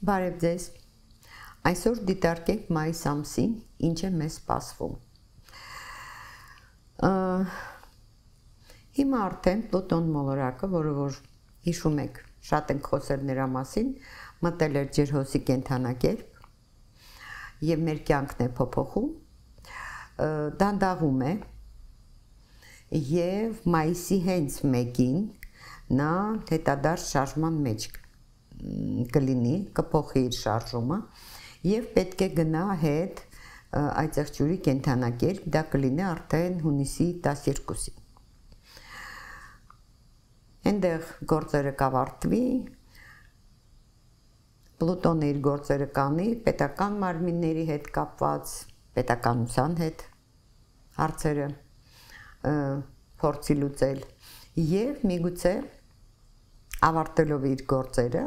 Բարև ձեզ։ Այսօր դիտարկենք մայիս ամսին, ինչ է մեզ սպասվում։ Հիմա արդեն Պլուտոն մոլորակը, որը որ հիշում եք, շատ ենք խոսել նրա մասին, մտել էր ջրհոսի կենդանակերպ եւ մեր կյանքն է փոփոխում, դանդաղում է եւ մայիսի հենց 1-ին նա հետադարձ շարժման մեջ կլինի, կփոխի իր շարժումը եւ պետք է գնա հետ այծեղջյուրի կենդանակերպ, դա կլինի արդեն հունիսի 12-ին։ Այնտեղ գործերը կավարտվի, Պլուտոնը իր գործերը կանի պետական մարմինների հետ կապված, պետականության հետ հարցերը փորձի լուծել եւ միգուցե ավարտելով իր գործերը,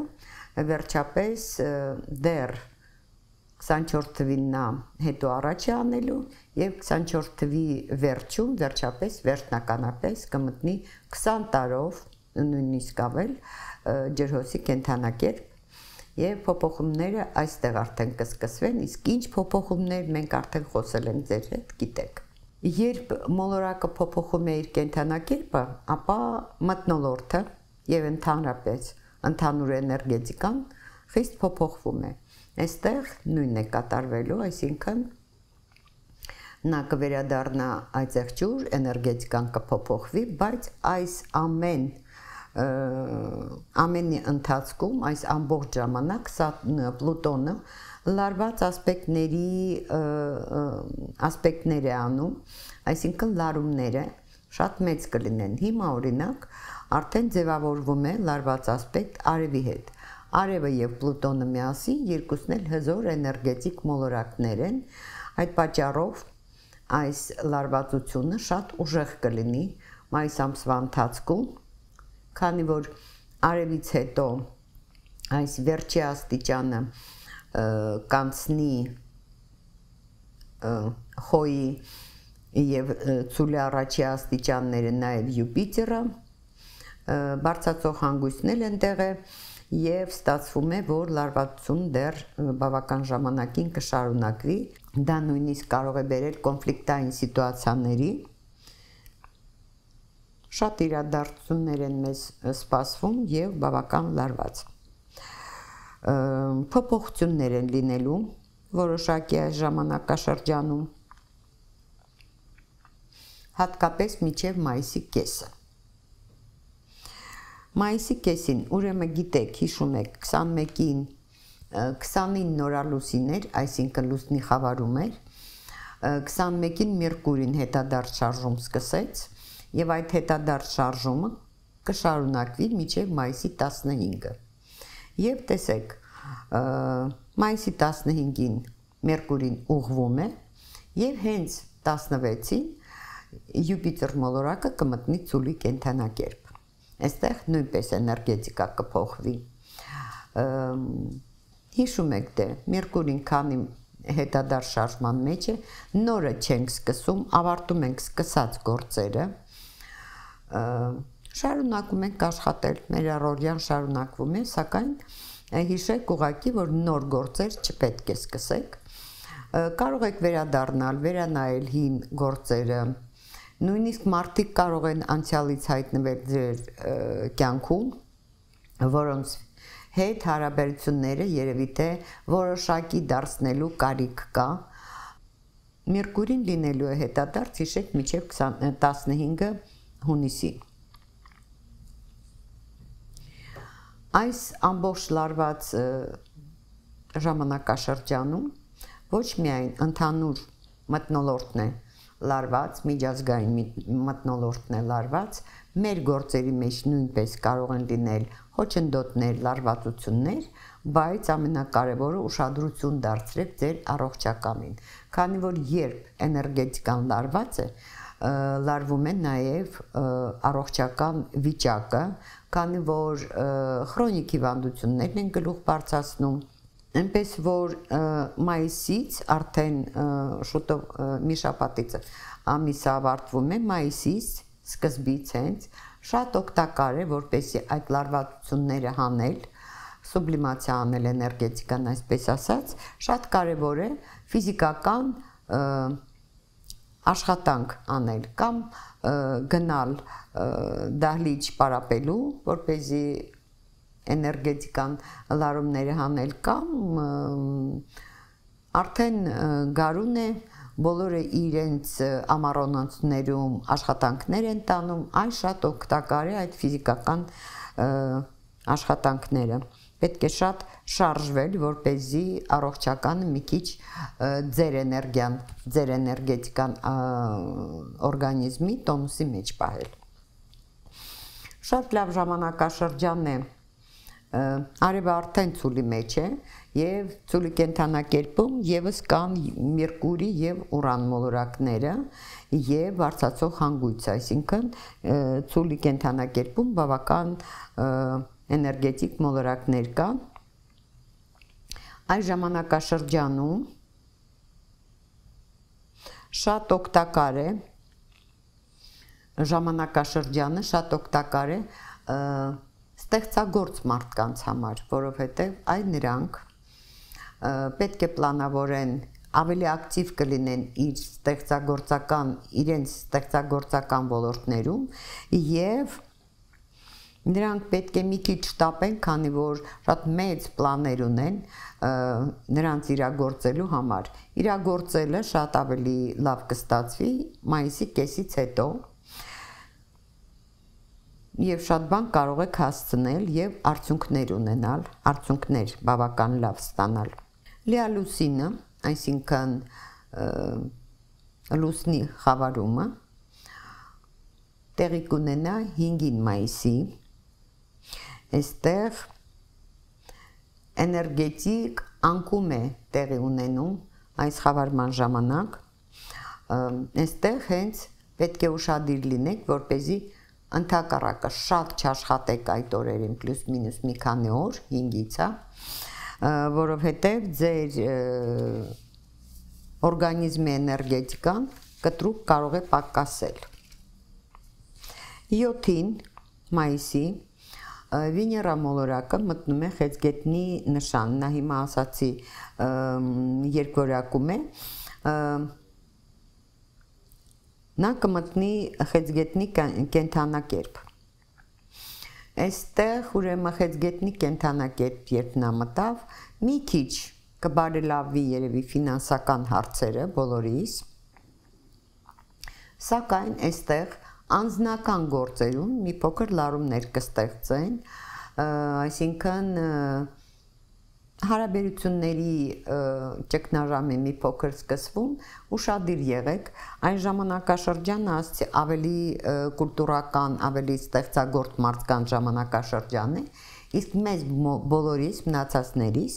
վերջապես դեռ 24 թվին նա հետո առաջ է անելու եւ 24 թվի վերջում վերջապես վերջնականապես կմտնի 20 տարով նույնիսկ ավել ջրհոսի կենդանակերպ եւ փոփոխումները այստեղ արդեն կսկսվեն, իսկ ինչ փոփոխումներ մենք արդեն խոսել ենք ձեր հետ, գիտեք։ Երբ մոլորակը փոփոխում է իր կենդանակերպը, ապա մթնոլորտը եւ ընդհանրապես ընդհանուր էներգետիկան խիստ փոփոխվում է։ Այստեղ նույնն է կատարվելու, այսինքն նա կվերադառնա այծեղջյուր, էներգետիկան կփոփոխվի, բայց այս ամենի ընթացքում, այս ամբողջ ժամանակ Պլուտոնը լարված ասպեկտներ է անում, այսինքն լարումները շատ մեծ կլինեն։ Հիմա օրինակ արդեն ձևավորվում է լարված ասպեկտ արևի հետ։ Արևը եւ Պլուտոնը միասին երկուսն էլ հզոր էներգետիկ մոլորակներ են, այդ պատճառով այս լարվածությունը շատ ուժեղ կլինի մայիս ամսվա ընթացքում, քանի որ արևից հետո այս վերջի աստիճանը կանցնի խոյի եւ ցուլի առաջի աստիճանները նաեւ Յուպիտերը, բարձրացող հանգույցն էլ այնտեղ է եւ ստացվում է, որ լարվածություն դեռ բավական ժամանակին կշարունակվի, դա նույնիսկ կարող է բերել կոնֆլիկտային սիտուացիաների, շատ իրադարձություններ են մեզ սպասվում եւ բավական լարված։ Փոփոխություններ են լինելու որոշակի այս ժամանակաշրջանում, հատկապես մինչև մայիսի կեսը։ Մայիսի կեսին, ուրեմն գիտեք, հիշում եք, 21-ին 29 նորալուսիներ, այսինքն լուսնի խավարում էր, 21-ին Մերկուրին հետադարձ շարժում սկսեց եւ այդ հետադարձ շարժումը կշարունակվի մինչև մայիսի 15-ը։ Եվ տեսեք, մայիսի 15-ին Մերկուրին ուղղվում է եւ հենց 16-ին Յուպիտեր մոլորակը կմտնի ցուլի կենդանակերպ։ Այստեղ նույնպես էներգետիկա կփոխվի։ Հիշում եք դե, Մերկուրին քանի հետադարձ շարժման մեջ է, նորը չենք սկսում, ավարտում ենք սկսած գործերը, շարունակում ենք աշխատել, մեր առօրյան շարունակվում է, սակայն հիշեք ուղղակի, որ նոր գործեր չպետք է սկսեք, կարող եք վերադառնալ, վերանայել հին գործերը, նույնիսկ մարդիկ կարող են անցյալից հայտնվել ձեր կյանքում, որոնց հետ հարաբերությունները երևի թե որոշակի դարձնելու կարիք կա։ Մերկուրին լինելու է հետադարձ, հիշեք, մինչև 15 հունիսի։ Այս ամբողջ լարված ժամանակաշրջանում ոչ միայն ընդհանուր մթնոլորտն է լարված, միջազգային մթնոլորտն է լարված, մեր գործերի մեջ նույնպես կարող են լինել հոչնդոտներ, լարվածություններ, բայց ամենակարևորը ուշադրություն դարձրեք ձեր առողջականին, քանի որ երբ էներգետիկան լարված է, լարվում է նաև առողջական վիճակը, քանի որ քրոնիկ հիվանդություններն են գլուխ բարձրացնում, այնպես որ մայիսից արդեն շուտով մի շաբաթից ամիսը ավարտվում է, մայիսից սկզբից հենց շատ օգտակար է, որպեսզի այդ լարվածությունները հանել, սուբլիմացիա անել էներգետիկան, այսպես ասած, շատ կարևոր է ֆիզիկական աշխատանք անել կամ գնալ դահլիճ պարապելու, որպեսզի էներգետիկան լարումները հանել կամ արդեն գարուն է, բոլորը իրենց ամառոնոցներում աշխատանքներ են տանում, այս շատ օգտակար է այդ ֆիզիկական աշխատանքները։ Պետք է շատ շարժվել, որպեսզի առողջականը մի քիչ ձեր էներգիան, ձեր էներգետիկան օրգանիզմի տոնուսի մեջ պահել։ Շատ լավ ժամանակաշրջան է, արևը արդեն ցուլի մեջ է եւ ցուլի կենդանակերպում եւս կան Մերկուրի եւ Ուրան մոլորակները եւ բարձրացող հանգույց, այսինքն ցուլի կենդանակերպում բավական էներգետիկ մոլորակներ կան։ Այս ժամանակաշրջանում շատ օգտակար է ժամանակաշրջանը, շատ օգտակար է ստեղծագործ մարդկանց համար, որովհետև այ նրանք պետք է պլանավորեն ավելի ակտիվ կլինեն իրենց ստեղծագործական ոլորտներում եւ նրանք պետք է մի քիչ շտապեն, քանի որ շատ մեծ պլաններ ունեն նրանց իրագործելու համար։ Իրագործելը շատ ավելի լավ կստացվի մայիսի կեսից հետո եւ շատ բան կարող եք հասցնել եւ արդյունքներ ունենալ, արդյունքներ բավական լավ ստանալ։ Լիալուսինը, այսինքն լուսնի խավարումը տեղի կունենա 5-ին մայիսի։ Այստեղ էներգետիկ անկում է տեղի ունենում այս խավարման ժամանակ։ Այստեղ հենց պետք է ուշադիր լինեք, որպեսզի ընդհակառակը շատ չաշխատեք այդ օրերին, պլյուս մինուս մի քանի օր, 5-ից, որովհետև ձեր օրգանիզմի էներգետիկան կտրուկ կարող է պակասել։ 7-ին մայիսի Վեներա մոլորակը մտնում է խեցգետնի նշան, նա հիմա ասացի երկվորյակում է, նա կմտնի խեցգետնի կենդանակերպ։ Այստեղ ուրեմն խեցգետնի կենդանակերպ երբ նա մտավ, մի քիչ կբարելավի երևի ֆինանսական հարցերը բոլորիս, սակայն այստեղ անձնական գործերում մի փոքր լարումներ կստեղծեն, այսինքն հարաբերությունների ճգնաժամի մի փոքր սկսվում, ուշադիր եղեք, այն ժամանակաշրջանը ասեցի ավելի կուլտուրական, ավելի ստեղծագործ մարդկանց ժամանակաշրջան է, իսկ մեզ բոլորիս մնացածներիս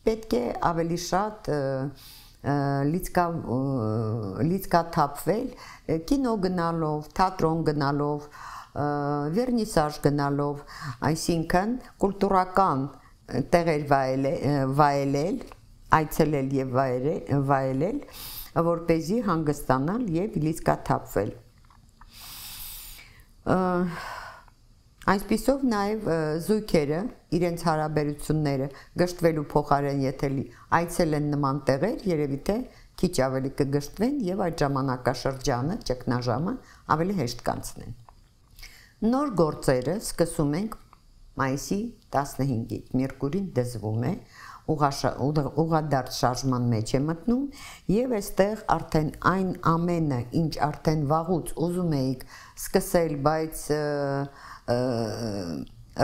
պետք է ավելի շատ լիցքաթափվել կինո գնալով, թատրոն գնալով, վերնիսաժ գնալով, այսինքն կուլտուրական տեղեր վայելել, այցելել եւ վայելել, որպեսզի հանգստանալ եւ լիցքաթափվել։ Այսպիսով նաև զույգերը իրենց հարաբերությունները գշտվելու փոխարեն եթե այցել են նման տեղեր, երևի թե քիչ ավելի կգշտվեն եւ այդ ժամանակաշրջանը, ճգնաժամը ավելի հեշտ կանցնեն։ Նոր գործերը սկսում ենք մայիսի 15-ից, Մերկուրին դզվում է, ուղղադարձ շարժման մեջ է մտնում եւ այստեղ արդեն այն ամենը, ինչ արդեն վաղուց ուզում էիք սկսել, բայց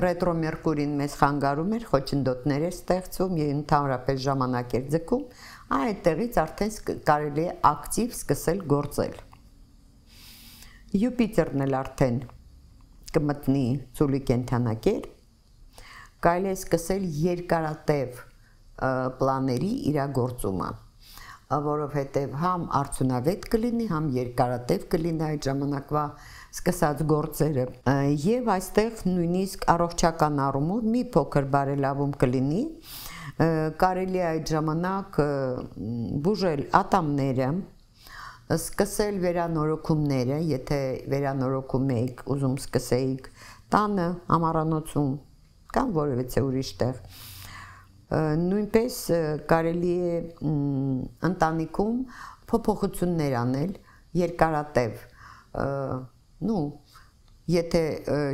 ռետրո Մերկուրին մեզ խանգարում էր, խոչընդոտներ էր ստեղծում եւ ընդհանրապես ժամանակ էր ձգում, այդտեղից արդեն կարելի է ակտիվ սկսել գործել։ Յուպիտերն էլ արդեն կմտնի ծուլի կենդանակերպ, կարելի է սկսել երկարատև պլաների իրագործումը, որովհետև համ արդյունավետ կլինի, համ երկարատև կլինի այդ ժամանակվա սկսած գործերը եւ այստեղ նույնիսկ առողջական առումով մի փոքր բարելավում կլինի, կարելի է այդ ժամանակ բուժել ատամները, սկսել վերանորոգումները, եթե վերանորոգում եք, ուզում սկսեիք տանը, ամառանոցում կամ որևէ ուրիշ տեղ, Նույնպես կարելի է ընտանիքում փոփոխություններ անել երկարատև, եթե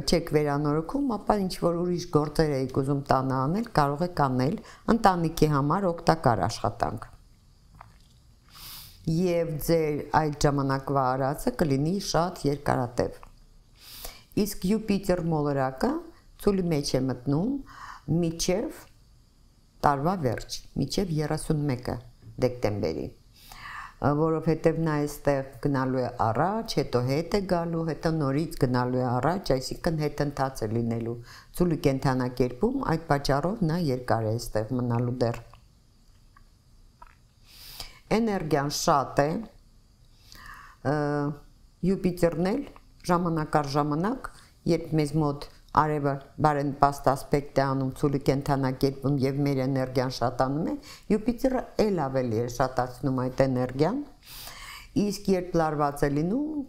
չեք վերանորոգում, ապա ինչ որ ուրիշ գործեր եք ուզում տանը անել, կարող եք անել ընտանիքի համար օգտակար աշխատանք։ Եվ ձեր այդ ժամանակվա արածը կլինի շատ երկարատև։ Իսկ Յուպիտեր մոլորակը ցուլի մեջ է մտնում մինչև տարվա վերջ, մինչև 31 դեկտեմբերի, որովհետև նա այստեղ գնալու է առաջ, հետո հետ է գալու, հետո նորից գնալու է առաջ, այսինքն հետընթաց է լինելու ցուլի կենթանակերպում, այդ պատճառով նա երկար է այստեղ մնալու դեռ։ Էներգիան շատ է, Յուպիտերն էլ ժամանակ առ ժամանակ, երբ մեզ մոտ արևը բարենպաստ ասպեկտ է անում ցուլի կենթանակերպում եւ մեր էներգիան շատանում է, Յուպիտերը ել ավելի է շատացնում այդ էներգիան, իսկ երբ լարված է լինում,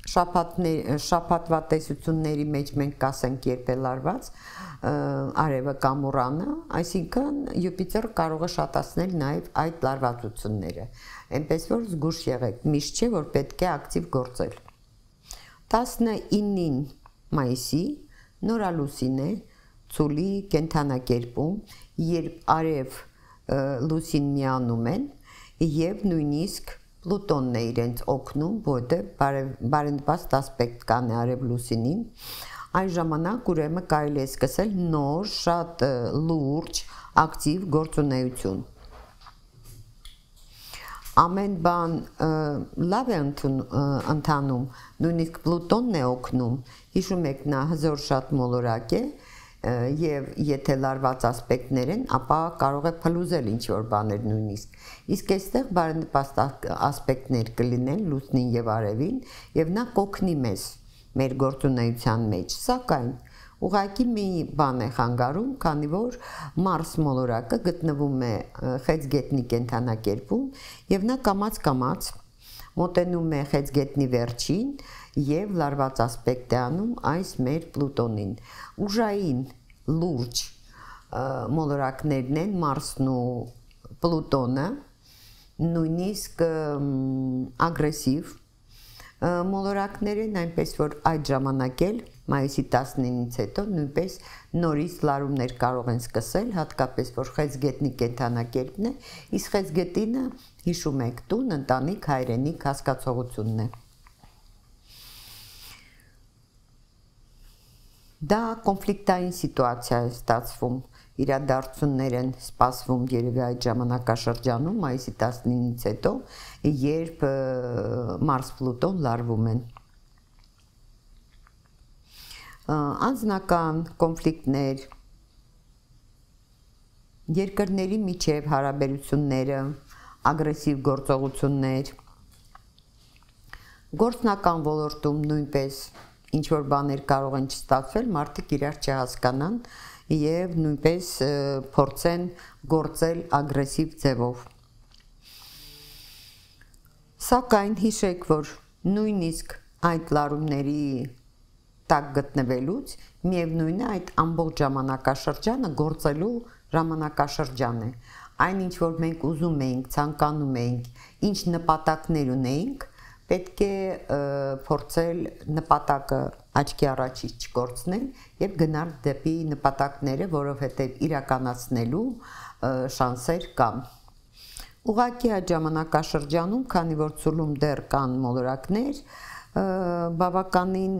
շաբաթվա տեսությունների մեջ մենք կասենք երբ է լարված արևը կամ ուրանը, այսինքն Յուպիտերը կարող է շատացնել նաեւ այդ լարվածությունները, այնպես որ զգուշ եղեք, միշտ չէ որ պետք է ակտիվ գործել։ 19-ին մայիսի նորալուսին է ցուլի կենթանակերպում, երբ արև լուսին միանում են եւ նույնիսկ Պլուտոնն է իրենց օգնում, որտեղ բարենպաստ ասպեկտ կան արև լուսինին, այն ժամանակ ուրեմն կարելի է սկսել նոր շատ լուրջ ակտիվ գործունեություն։ Ամեն բան լավ է ընթանում, նույնիսկ Պլուտոնն է օգնում, հիշում եք նա հզոր շատ մոլորակ է եւ եթե լարված ասպեկտներ են, ապա կարող է փլուզել ինչ որ բաներ նույնիսկ։ Իսկ այստեղ բարենպաստ ասպեկտներ կլինեն լուսնին եւ արևին եւ նա կօգնի մեզ մեր գործունեության մեջ, սակայն ուղղակի մի բան է խանգարում, քանի որ Մարս մոլորակը գտնվում է խեցգետնի կենթանակերպում եւ նա կամաց մոտենում է խեցգետնի վերջին եւ լարված ասպեկտ է անում այս մեր Պլուտոնին։ Ուժային լուրջ մոլորակներն են Մարսն ու Պլուտոնը, նույնիսկ ագրեսիվ մոլորակներ են, այնպես որ այդ ժամանակ էլ մայիսի 19-ից հետո նույնպես նորից լարումներ կարող են սկսել, հատկապես որ խեցգետնի կենթանակերպն է, իսկ խեցգետինը հիշում եք տուն, ընտանիք, հայրենիք հասկացողությունն է։ Դա կոնֆլիկտային սիտուացիա է ստացվում, իրադարձություններ են սպասվում երևի այդ ժամանակաշրջանում, մայիսի 19-ից հետո, երբ Մարս-Պլուտոն լարվում են։ Անձնական կոնֆլիկտներ, երկրների միջև հարաբերությունները, ագրեսիվ գործողություններ, գործնական ոլորտում նույնպես ինչ որ բաներ կարող են չստացվել, մարդիկ իրար չհասկանան եւ նույնպես փորձեն գործել ագրեսիվ ձևով։ Սակայն հիշեք, որ նույնիսկ այդ լարումների տակ գտնվելուց միևնույն է այդ ամբողջ ժամանակաշրջանը գործելու ժամանակաշրջան է։ Այն ինչ որ մենք ուզում էինք, ցանկանում էինք, ինչ նպատակներ ունեինք, պետք է փորձել նպատակը աչքի առաջից չկորցնել եւ գնալ դեպի նպատակները, որովհետեւ իրականացնելու շանսեր կան։ Ուղղակի այդ ժամանակաշրջանում, քանի որ ցուլում դեռ կան մոլորակներ, բավականին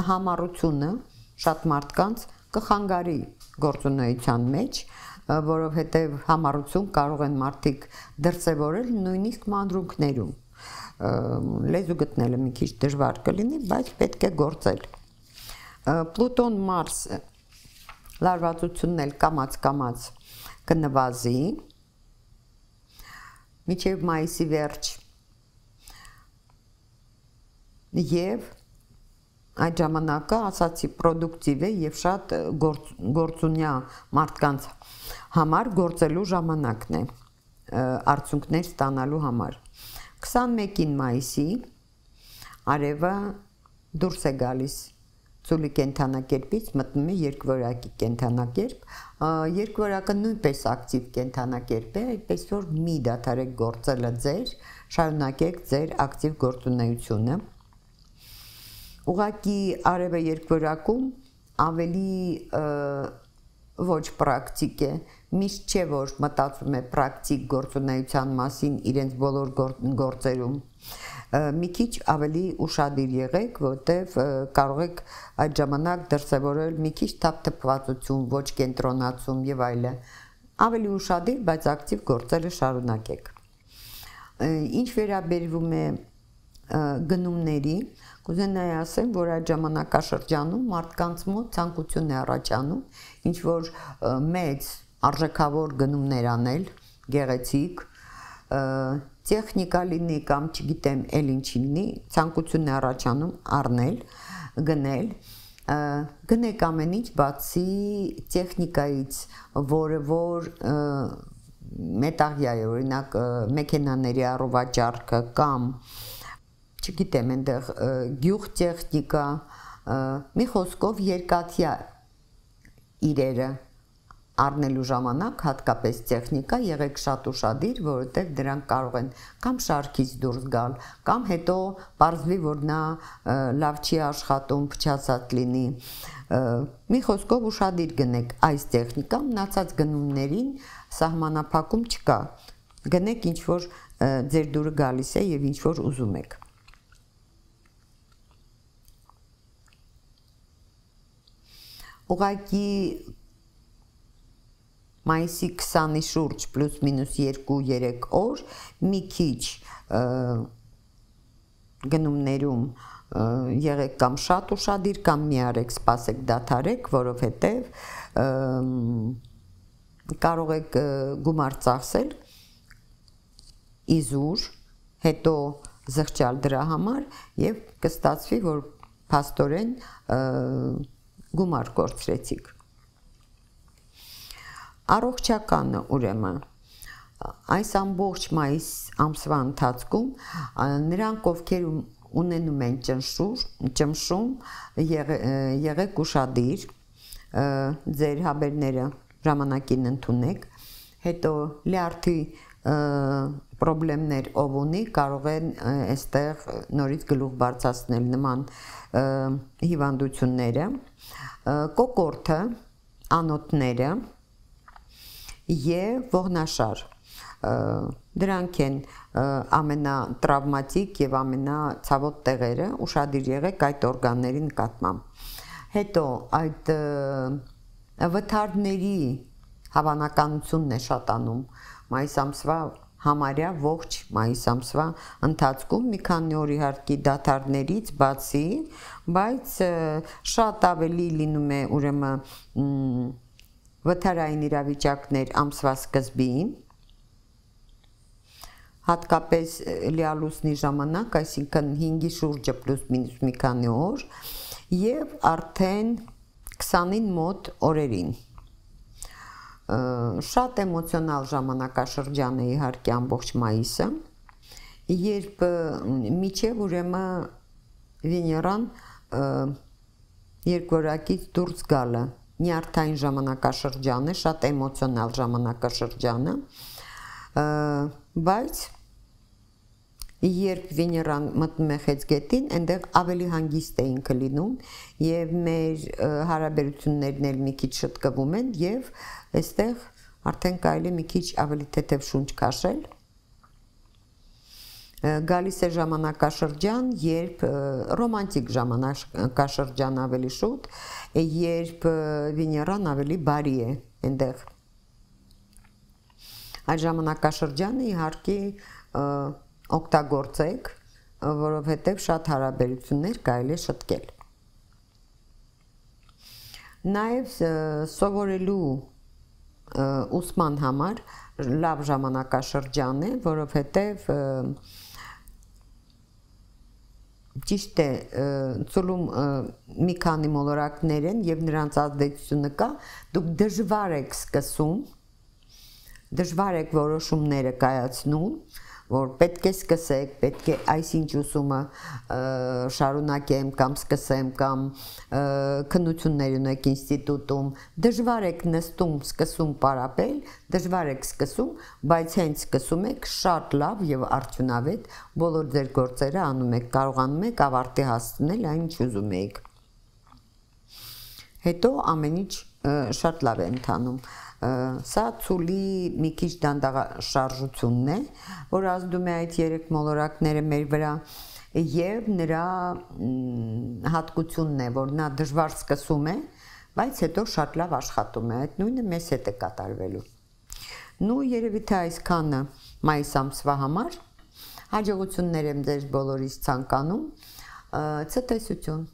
համառությունը շատ մարդկանց կխանգարի գործունեության մեջ, որովհետեւ համառություն կարող են մարդիկ դրսևորել նույնիսկ մանրուքներում։ Լեզու գտնելը մի քիչ դժվար կլինի, բայց պետք է գործել։ Պլուտոն Մարս լարվածությունն էլ կամաց կնվազի մինչև մայիսի վերջ եւ այդ ժամանակը ասացի պրոդուկտիվ է եւ շատ գործունյա մարդկանց համար գործելու ժամանակն է արդյունքներ ստանալու համար։ 21-ին մայիսի արևը դուրս է գալիս ծուլի կենթանակերպից մտնում է երկվորյակի կենթանակերպ, երկվորյակը նույնպես ակտիվ կենթանակերպ է, այդպես որ մի դադարեք գործելը ձեր, շարունակեք ձեր ակտիվ գործունեությունը։ Ուղղակի արևը երկվորյակում ավելի ոչ պրակտիկ է, միշտ չէ որ մտածում է պրակտիկ գործունեության մասին իրենց բոլոր գործերում, մի քիչ ավելի ուշադիր եղեք, որտեվ կարող եք այդ ժամանակ դրսևորել մի քիչ թափթփվածություն, ոչ կենտրոնացում եւ այլն, ավելի ուշադիր, բայց ակտիվ գործելը շարունակեք։ Ինչ վերաբերվում է գնումների, կուզենայի ասեմ, որ այդ ժամանակաշրջանում մարդկանց մոտ ցանկություն է առաջանում ինչ որ մեծ արժեքավոր գնումներ անել, գեղեցիկ, տեխնիկա լինի կամ չգիտեմ էլ ինչ լինի, ցանկություն է առաջանում առնել, գնել, գնեք ամեն ինչ բացի տեխնիկայից, որը որ մետաղյա է, օրինակ մեքենաների առուվաճառքը կամ չգիտեմ, այնտեղ գյուղ տեխնիկա, մի խոսքով երկաթյա իրերը առնելու ժամանակ, հատկապես տեխնիկա, եղեք շատ ուշադիր, որովհետև դրանք կարող են կամ շարքից դուրս գալ, կամ հետո պարզվի, որ նա լավ չի աշխատում, փչացած լինի։ Մի խոսքով ուշադիր գնեք այս տեխնիկան, մնացած գնումներին սահմանափակում չկա։ Գնեք ինչ որ ձեր դուրը գալիս է եւ ինչ որ ուզում եք։ Ուղղակի մայիսի 20-ի շուրջ պլյուս մինուս 2-3 օր մի քիչ գնումներում եղեք կամ շատ ուշադիր կամ մի արեք, սպասեք, դադարեք, որովհետև կարող եք գումար ծախսել իզուր, հետո զղջալ դրա համար եւ կստացվի, որ փաստորեն գումար կորցրեցիք։ Առողջականը ուրեմն այս ամբողջ մայիս ամսվա ընթացքում նրանք ովքեր ունենում են ճնշում, եղեք ուշադիր, ձեր հաբերները ժամանակին ընդունեք, հետո լյարդի պրոբլեմներ ով ունի, կարող են այստեղ նորից գլուխ բարձրացնել նման հիվանդությունները, կոկորդը, անոթները եւ ողնաշար, դրանք են ամենատրավմատիկ եւ ամենացավոտ տեղերը, ուշադիր եղեք այդ օրգանների նկատմամբ։ Հետո այդ վթարների հավանականությունն է շատանում մայիս ամսվա համարյա ողջ մայիս ամսվա ընթացքում, մի քանի օր իհարկե դադարներից բացի, բայց շատ ավելի լինում է ուրեմն վթարային իրավիճակներ ամսվա սկզբին, հատկապես լիալուսնի ժամանակ, այսինքն 5-ի շուրջը պլյուս մինուս մի քանի օր եւ արդեն 20-ին մոտ օրերին։ Շատ էմոցիոնալ ժամանակաշրջան է իհարկե ամբողջ մայիսը, երբ միջև ուրեմն Վեներան երկորակից դուրս գալը, նյարդային ժամանակաշրջան է, շատ էմոցիոնալ ժամանակաշրջան է, բայց երբ Վեներան մտնում է խեցգետին, այնտեղ ավելի հանգիստ է ինքը լինում եւ մեր հարաբերություններն էլ մի քիչ շտկվում են եւ այստեղ արդեն կարելի է մի քիչ ավելի թեթև շունչ քաշել։ Գալիս է ժամանակաշրջան, երբ ռոմանտիկ ժամանակաշրջան ավելի շուտ, երբ Վեներան ավելի բարի է այնտեղ։ Այդ ժամանակաշրջանը իհարկե օգտագործեք, որովհետև շատ հարաբերություններ կարելի է շտկել։ Նաև սովորելու ուսման համար լավ ժամանակաշրջան է, որովհետև ճիշտ է, ծուլում մի քանի մոլորակներ են եւ նրանց ազդեցությունը կա, դուք դժվար եք սկսում, դժվար եք որոշումները կայացնում, որ պետք է սկսեք, պետք է այսինչ ուսումը շարունակեմ կամ սկսեմ կամ քննություններ ունեք ինստիտուտում, դժվար եք նստում, սկսում պարապել, դժվար եք սկսում, բայց հենց սկսում եք շատ լավ եւ արդյունավետ բոլոր ձեր գործերը անում եք, կարողանում եք ավարտի հասցնել այն, ինչ ուզում եք։ Հետո ամեն ինչ շատ լավ է ընթանում։ Սա ցուլի մի քիչ դանդաղաշարժությունն է, որ ազդում է այդ երեք մոլորակները մեր վրա եւ նրա հատկությունն է, որ նա դժվար սկսում է, բայց հետո շատ լավ աշխատում է։ Այդ նույնը մեզ հետ է կատարվելու։ Նու երևի թե այսքանը մայիս ամսվա համար հաջողություններ եմ ձեզ բոլորիս ցանկանում։ Ցտեսություն։